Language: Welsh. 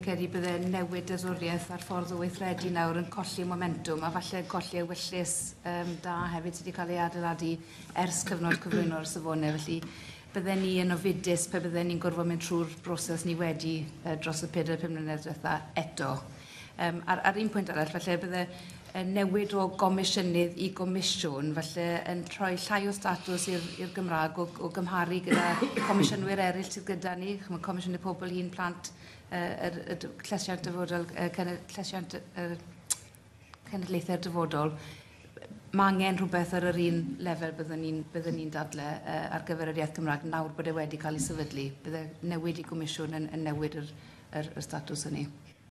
Credu bydde newid deddfwriaeth a'r ffordd o weithredu nawr yn colli momentwm a falle colli ewyllys da hefyd sydd wedi cael ei adeiladu ers cyfnod cyflwyno'r safonau. Felly bydden ni yn ofidus pe bydden ni'n gorfod mynd trwy'r broses ni wedi dros y 4-5 mlynedd diwetha eto. Ar un pwynt arall, falle bydde newid o gomisiynydd i gomisiwn, falle yn rhoi llai o statws i'r Gymraeg o gymharu gyda comisiynwyr eraill sydd gyda ni, chimod, Comisiynydd Pobl Hŷn, Plant, yr llesiant dyfodol, llesiant cenedlaethau'r dyfodol. Mae angen rhywbeth ar yr un lefel byddwn ni'n dadle ar gyfer yr iaith Gymraeg nawr bod e wedi cael ei sefydlu. Bydde newid i gomisiwn yn newid yr statws hynny.